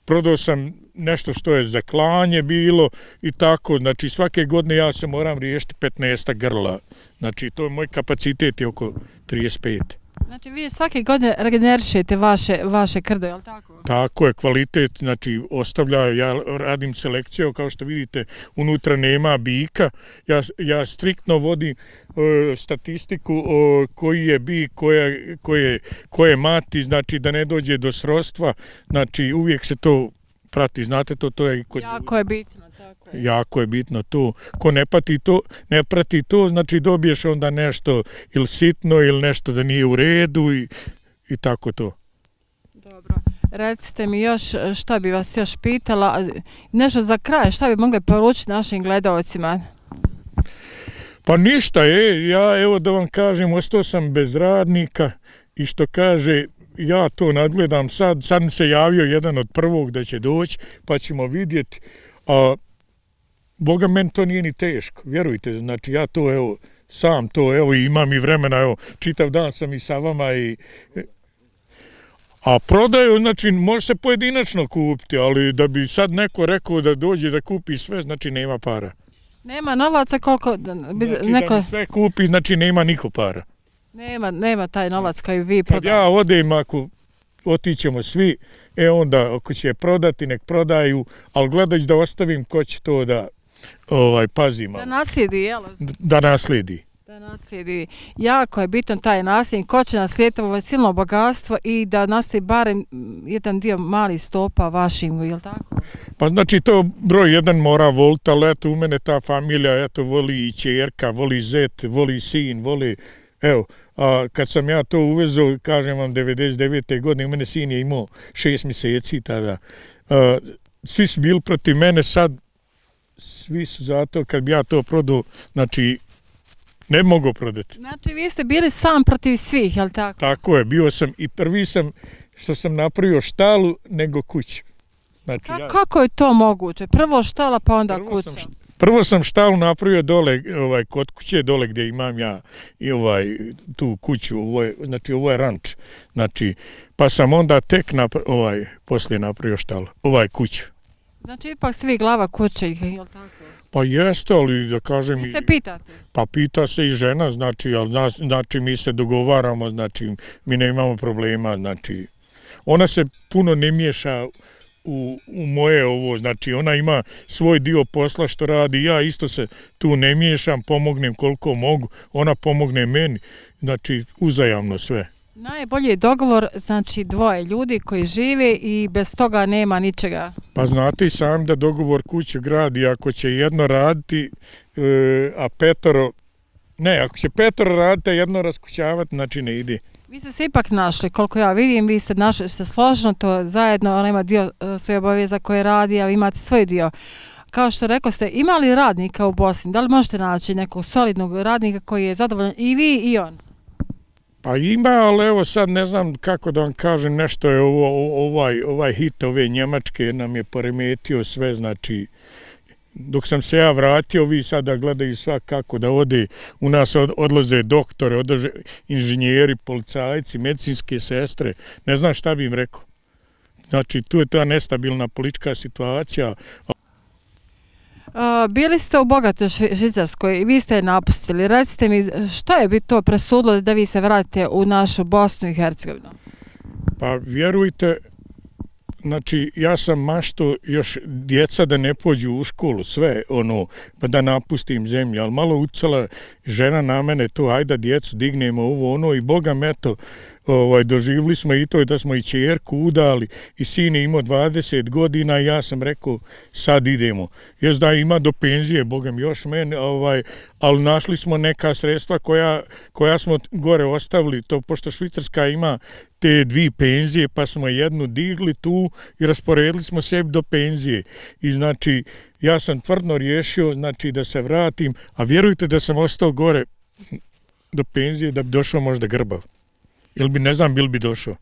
Prodao sam nešto što je za klanje bilo i tako, znači svake godine ja se moram riješiti petnaest grla, znači to je moj kapacitet je oko trideset pet. Znači vi svake godine regenerišete vaše, vaše krdo, je li tako? Tako je, kvalitet, znači ostavljaju, ja radim selekciju, kao što vidite, unutra nema bika, ja, ja striktno vodim e, statistiku o, koji je bik, koja, koje, koje mati, znači da ne dođe do srodstva, znači uvijek se to prati, znate to, to je... Kod, jako je bitno, tako je. Jako je bitno to. Ko ne prati to, ne prati to, znači dobiješ onda nešto ili sitno ili nešto da nije u redu i, i tako to. Dobro. Recite mi još šta bi vas još pitala, nešto za kraj, šta bi mogli poručiti našim gledalcima? Pa ništa je, ja evo da vam kažem, ostao sam bez radnika i što kaže, ja to nadgledam sad, sad mi se javio jedan od prvog da će doći, pa ćemo vidjeti, a Boga, meni to nije ni teško, vjerujte, znači ja to, evo, sam to, evo, imam i vremena, evo, čitav dan sam i sa vama i... A prodaju, znači, može se pojedinačno kupiti, ali da bi sad neko rekao da dođe da kupi sve, znači nema para. Nema novaca koliko... Znači neko... da mi sve kupi, znači nema niko para. Nema, nema taj novac koji vi prodaju. Kad ja odem, ako otićemo svi, e onda ako će prodati, nek prodaju, ali gledajući da ostavim ko će to da ovaj, pazi malo. Da naslijedi, jel? Da naslijedi. Da naslijedi. Jako je bitan taj nasljednik, ko će naslijediti ovo silno bogatstvo i da naslijedi barem jedan dio mali stopa vašim, jel tako? Pa znači to broj jedan mora voliti, ali eto u mene ta familija, eto voli i čerka, voli zet, voli sin, voli... Evo, a kad sam ja to uvezao, kažem vam, devedeset devete godine, u mene sin je imao šest mjeseci tada. A, svi su bili protiv mene, sad svi su zato kad bi ja to prodao, znači ne mogu prodati. Znači vi ste bili sam protiv svih, jel tako? Tako je, bio sam i prvi sam što sam napravio štalu nego kuću. Znači, Ka ja, kako je to moguće? Prvo štala pa onda prvo kuća. Sam, prvo sam štalu napravio dole, ovaj, kod kuće, dole gdje imam ja i ovaj, tu kuću, ovo je, znači ovo je ranč. Znači, pa sam onda tek napra, ovaj, poslije napravio štalu, ovaj kuću. Znači ipak svi glava kuće, jel tako? Pa jeste, ali da kažem... Vi se pitate? Pa pita se i žena, znači, ali znači mi se dogovaramo, znači mi ne imamo problema, znači ona se puno ne miješa u, u moje ovo, znači ona ima svoj dio posla što radi, ja isto se tu ne miješam, pomognem koliko mogu, ona pomogne meni, znači uzajamno sve. Najbolji je dogovor, znači dvoje ljudi koji žive i bez toga nema ničega. Pa znate i sam da dogovor kuće gradi, ako će jedno raditi, e, a petoro, ne, ako će petoro raditi, a jedno raskućavati, znači ne ide. Vi ste se ipak našli, koliko ja vidim, vi ste našli se složeno, to zajedno, ona ima dio svoje obaveza koje radi, a vi imate svoj dio. Kao što rekao ste, imali radnika u Bosni, da li možete naći nekog solidnog radnika koji je zadovoljan i vi i on? Pa ima, ali evo sad ne znam kako da vam kažem, nešto je ovo, ovaj, ovaj hit ove Njemačke nam je poremetio sve, znači dok sam se ja vratio, vi sada gledaju svak kako da ode, u nas odlaze doktore, odlaze inženjeri, policajci, medicinske sestre, ne znam šta bi im rekao. Znači tu je ta nestabilna politička situacija. Uh, bili ste u bogatoj Švicarskoj i vi ste je napustili. Recite mi, što je bi to presudilo da vi se vratite u našu Bosnu i Hercegovinu? Pa vjerujte, znači ja sam mašto još djeca da ne pođu u školu, sve ono, pa da napustim zemlju, ali malo ucala žena na mene to, ajde djecu dignemo ovo ono i Boga me to, ovaj, doživili smo i to da smo i čerku udali i sin je imao dvadeset godina i ja sam rekao sad idemo. Jes da ima do penzije, Boga mi još mene, ovaj, ali našli smo neka sredstva koja, koja smo gore ostavili, to pošto Švicarska ima te dvije penzije, pa smo jednu digli tu i rasporedili smo sebi do penzije. I znači, ja sam tvrdno riješio znači, da se vratim, a vjerujte da sam ostao gore do penzije da bi došao možda grbav. Ili bi, ne znam, bil bi došao.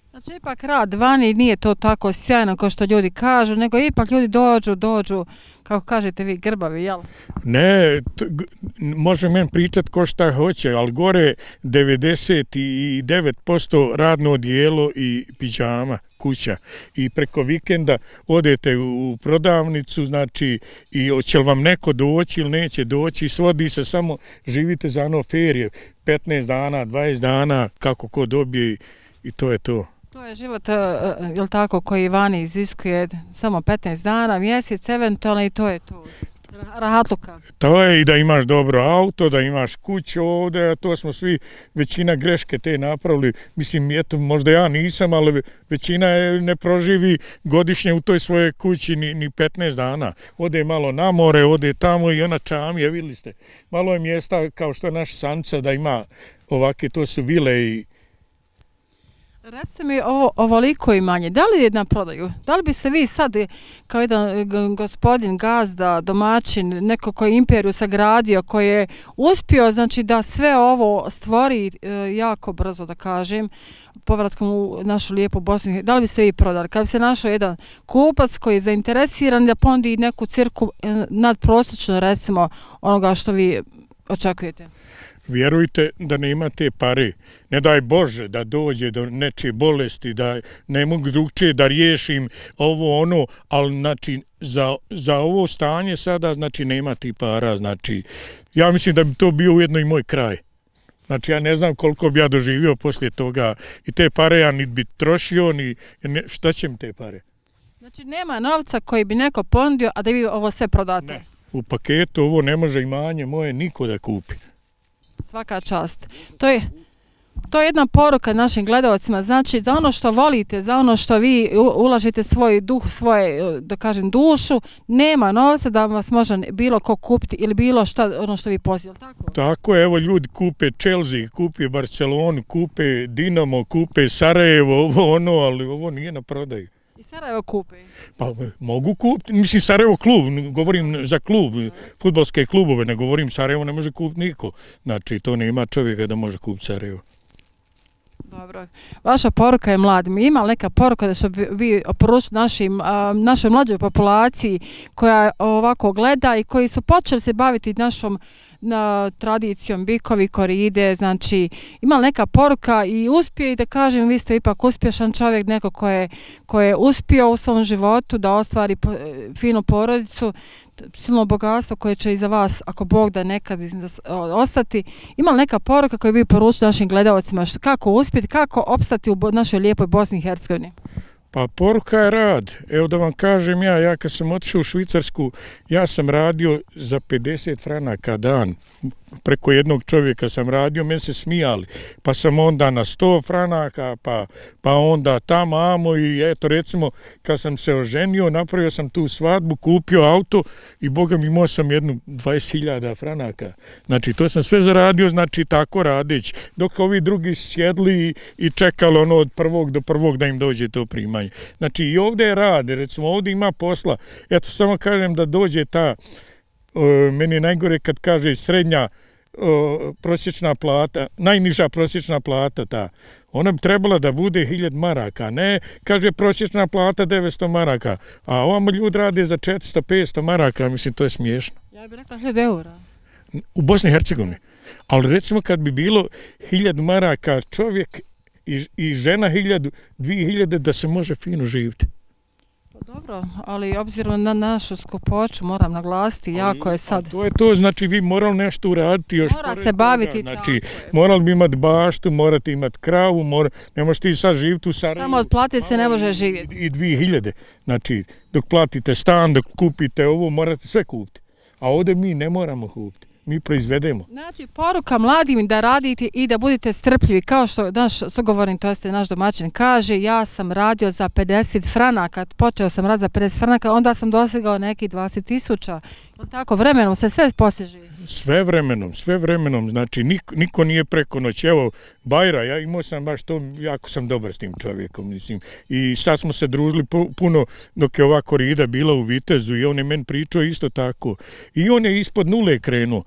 Znači, ipak rad vani nije to tako sjajno kao što ljudi kažu, nego ipak ljudi dođu, dođu, kako kažete vi, grbavi, jel? Ne, t, g, može men pričat ko šta hoće, ali gore devedeset devet posto radno odijelo i pidžama, kuća. I preko vikenda odete u prodavnicu, znači, i hoće li vam neko doći ili neće doći, svodi se samo, živite za ono ferije, petnaest dana, dvadeset dana, kako ko dobije i to je to. To je život, jel tako, koji vani iziskuje samo petnaest dana, mjesec, eventualno i to je to. Rahatluka. To je i da imaš dobro auto, da imaš kuću ovdje, a to smo svi, većina greške te napravili. Mislim, eto, možda ja nisam, ali većina je ne proživi godišnje u toj svojoj kući ni, ni petnaest dana. Ode malo na more, ode tamo i ona čamija, vidjeli ste. Malo je mjesta kao što je naš Sanca da ima ovake, to su vile i Recite mi ovo, ovoliko imanje, da li je na prodaju? Da li bi se vi sad kao jedan gospodin, gazda, domaćin, neko koji je imperiju sagradio, koji je uspio znači, da sve ovo stvori e, jako brzo, da kažem, povratkom u našu lijepu Bosnu, da li bi se vi prodali? Kad bi se našao jedan kupac koji je zainteresiran da pondi neku cirku e, nadprosječno, recimo, onoga što vi očekujete? Vjerujte da ne imate pare. Ne daj Bože da dođe do nečije bolesti, da ne mogu drugčije da riješim ovo ono, ali znači za, za ovo stanje sada znači nema ti para. Znači, ja mislim da bi to bio ujedno i moj kraj. Znači ja ne znam koliko bi ja doživio poslije toga i te pare ja ni bi trošio, ni ne, šta će mi te pare? Znači nema novca koji bi neko ponudio, a da vi ovo sve prodate? Ne. U paketu ovo ne može imanje moje niko da kupi. Svaka čast. To je, to je jedna poruka našim gledalcima, znači za ono što volite, za ono što vi ulažete svoj duh, svoje, da kažem, dušu, nema novca da vas može bilo ko kupiti ili bilo šta, ono što vi posjedite, tako? Tako je, evo ljudi kupe Chelsea, kupe Barcelonu, kupe Dinamo, kupe Sarajevo, ovo ono, ali ovo nije na prodaju. I Sarajevo kupe? Pa mogu kupiti, mislim Sarajevo klub, govorim za klub, fudbalske klubove, ne govorim Sarajevo ne može kupiti niko. Znači to nema čovjeka da može kupiti Sarajevo. Dobro. Vaša poruka je mladim. Ima li neka poruka da što vi oporučite našim, našoj mlađoj populaciji koja ovako gleda i koji su počeli se baviti našom na tradicijom bikovi, koride, znači ima li neka poruka i uspije i da kažem vi ste ipak uspješan čovjek, neko ko je, ko je uspio u svom životu da ostvari finu porodicu, silno bogatstvo koje će iza vas, ako Bog da nekad ostati. Ima li neka poruka koju bi poručili našim gledalcima kako uspjeti, kako opstati u našoj lijepoj Bosni i Hercegovini? Pa poruka je rad. Evo da vam kažem ja, ja kad sam otišao u Švicarsku, ja sam radio za pedeset franaka dan. Preko jednog čovjeka sam radio, meni se smijali. Pa sam onda na sto franaka, pa, pa onda tamo, amo i eto recimo kad sam se oženio, napravio sam tu svadbu, kupio auto i boga mi imao sam jednu dvadeset hiljada franaka. Znači to sam sve zaradio, znači tako radić. Dok ovi drugi sjedli i čekali ono od prvog do prvog da im dođe to primanje. Znači i ovdje je rad, recimo ovdje ima posla. Eto samo kažem da dođe ta, o, meni je najgore kad kaže srednja o, prosječna plata, najniža prosječna plata ta. Ona bi trebala da bude hiljad maraka, ne, kaže prosječna plata devetsto maraka, a ovamo ljudi rade za četiristo petsto maraka, mislim to je smiješno. Ja bih rekla hiljad eura. U Bosni i Hercegovini. Ali recimo kad bi bilo hiljad maraka čovjek i, i žena hiljadu, dvije hiljade da se može fino živjeti. Pa dobro, ali obzirom na našu skupoću moram naglasiti, jako je sad... To je to, znači vi morali nešto uraditi još... Mora se baviti toga. Znači, morali bi imati baštu, morate imati kravu, mora, ne možete i sad živjeti u Sarajevu. Samo od plate se ne može živjeti. I dvije hiljade. Znači, dok platite stan, dok kupite ovo, morate sve kupiti. A ovdje mi ne moramo kupiti. Mi proizvedemo. Znači, poruka mladim da radite i da budete strpljivi. Kao što naš sugovornik, to jeste naš domaćin, kaže, ja sam radio za pedeset franaka, počeo sam raditi za pedeset franaka, onda sam dosegao neki dvadeset tisuća. Tako, vremenom se sve postiže. Sve vremenom, sve vremenom, znači niko, niko nije preko noći. Evo, Bajra, ja imao sam baš to, jako sam dobar s tim čovjekom, mislim. I sad smo se družili puno dok je ova korida bila u Vitezu i on je meni pričao isto tako. I on je ispod nule krenuo.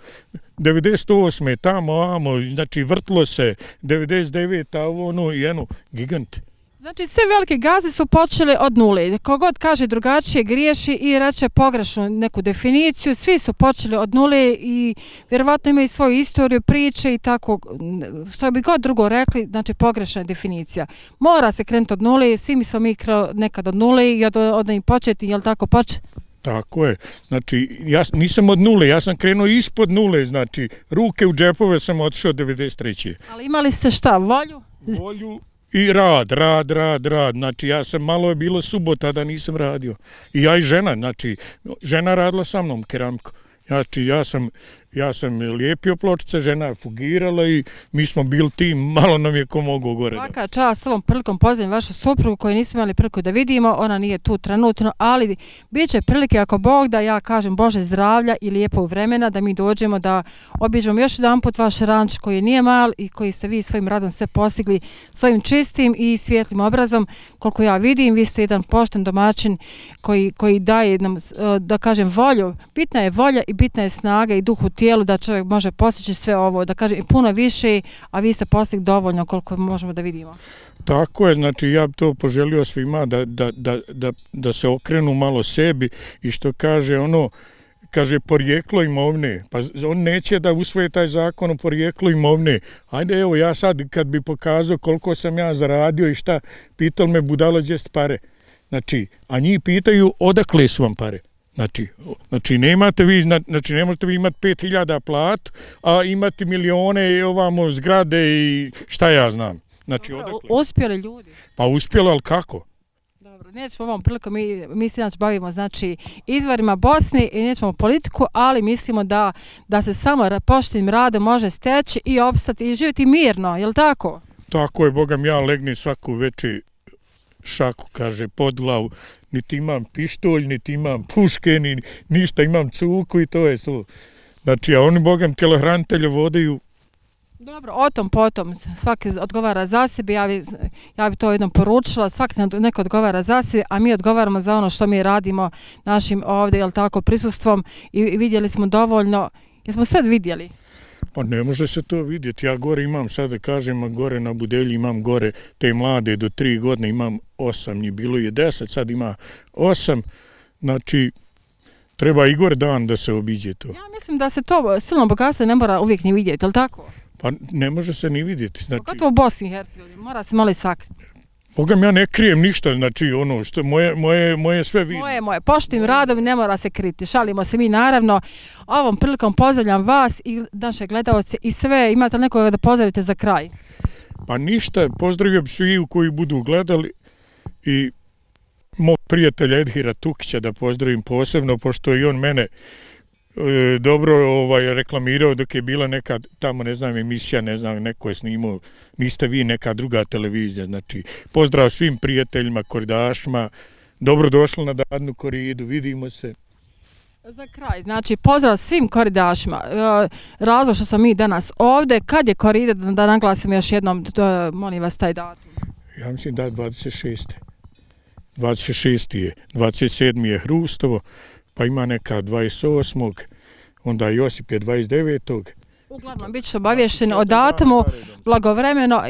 devedeset osme tamo, amo, znači vrtlo se, devedeset devete ovo ono i eno, gigant. Znači sve velike gazde su počele od nule. Kogod kaže drugačije griješi i reče pogrešnu neku definiciju, svi su počeli od nule i vjerovatno imaju svoju istoriju, priče i tako, što bi god drugo rekli, znači pogrešna definicija. Mora se krenuti od nule, svi mi smo mi nekad od nule i od, od njih početi, jel tako poče? Tako je. Znači, ja nisam od nule, ja sam krenuo ispod nule, znači, ruke u džepove sam otišao devedeset treće. Ali imali ste šta, volju? Volju i rad, rad, rad, rad. Znači, ja sam, malo je bilo subota da nisam radio. I ja i žena, znači, žena radila sa mnom keramiku. Znači, ja sam Ja sam lijepio pločice, žena je fugirala i mi smo bili tim, malo nam je ko mogu gore. Svaka čast ovom prilikom pozdravim vašu suprugu koju nismo imali priliku da vidimo, ona nije tu trenutno, ali bit će prilike ako Bog da ja kažem Bože zdravlja i lijepog vremena da mi dođemo da obiđemo još jedan put vaš ranč koji nije mal i koji ste vi svojim radom sve postigli svojim čistim i svjetlim obrazom. Koliko ja vidim, vi ste jedan pošten domaćin koji, koji daje nam, da kažem, volju. Bitna je volja i bitna je snaga i duh u tijelu da čovjek može postići sve ovo, da kažem i puno više, a vi ste postigli dovoljno koliko možemo da vidimo. Tako je, znači ja bi to poželio svima da, da, da, da, da se okrenu malo sebi i što kaže ono, kaže porijeklo imovne, pa on neće da usvoje taj zakon o porijeklu imovne. Ajde evo ja sad kad bi pokazao koliko sam ja zaradio i šta, pitao me budalo gdje pare. Znači, a njih pitaju odakle su vam pare. Znači, znači, nemate vi, znači ne možete vi imati pet hiljada plat, a imati milione i ovamo zgrade i šta ja znam. Znači, Dobro, odakle? Uspjeli ljudi. Pa uspjelo, ali kako? Dobro, nećemo ovom prilikom, mi, mi se inače bavimo znači, izvarima Bosne i nećemo politiku, ali mislimo da, da se samo poštenim radom može steći i opstati i živjeti mirno, je li tako? Tako je, Bogam, ja legnem svaku večer šaku, kaže, pod glavu. Niti imam pištolj, niti imam puške, ni ništa, imam cuku i to je to. Znači, a oni, Bogam, tjelohranitelje vodaju. Dobro, o tom potom, svaki odgovara za sebe, ja bi, ja bi to jednom poručila, svaki neko odgovara za sebe, a mi odgovaramo za ono što mi radimo našim ovdje, jel tako, prisustvom i vidjeli smo dovoljno, jesmo sve vidjeli? Pa ne može se to vidjeti, ja gore imam, sad da kažem, a gore na Budelji imam gore te mlade do tri godine, imam osam, njih bilo je deset, sad ima osam, znači treba i gore dan da se obiđe to. Ja mislim da se to silno bogatstvo ne mora uvijek ni vidjeti, jel tako? Pa ne može se ni vidjeti. Znači, pogotovo u Bosni i Hercegovini, mora se malo i sakriti. Bogam, ja ne krijem ništa, znači ono što moje, moje, moje sve vidim. Moje, moje, poštim radom ne mora se kriti, šalimo se mi naravno. Ovom prilikom pozdravljam vas i naše gledalce i sve, imate li nekoga da pozdravite za kraj? Pa ništa, pozdravljam svi koji budu gledali i mog prijatelja Edhira Tukića da pozdravim posebno, pošto i on mene e, dobro ovaj, reklamirao dok je bila neka tamo, ne znam, emisija, ne znam, neko je snimao, niste vi neka druga televizija, znači pozdrav svim prijateljima, koridašima, dobro došli na dadnu koridu, vidimo se. Za kraj, znači pozdrav svim koridašima, razlog što smo mi danas ovdje, kad je korida, da naglasim još jednom, molim vas taj datum. Ja mislim da je dvadeset šeste. dvadeset šeste je, dvadeset sedmi je Hrustovo, pa ima neka dvadeset osmog onda Josip je dvadeset devetog Uglavnom, bit ćete obavješteni o datumu, blagovremeno.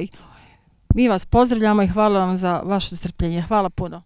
Mi vas pozdravljamo i hvala vam za vaše strpljenje. Hvala puno.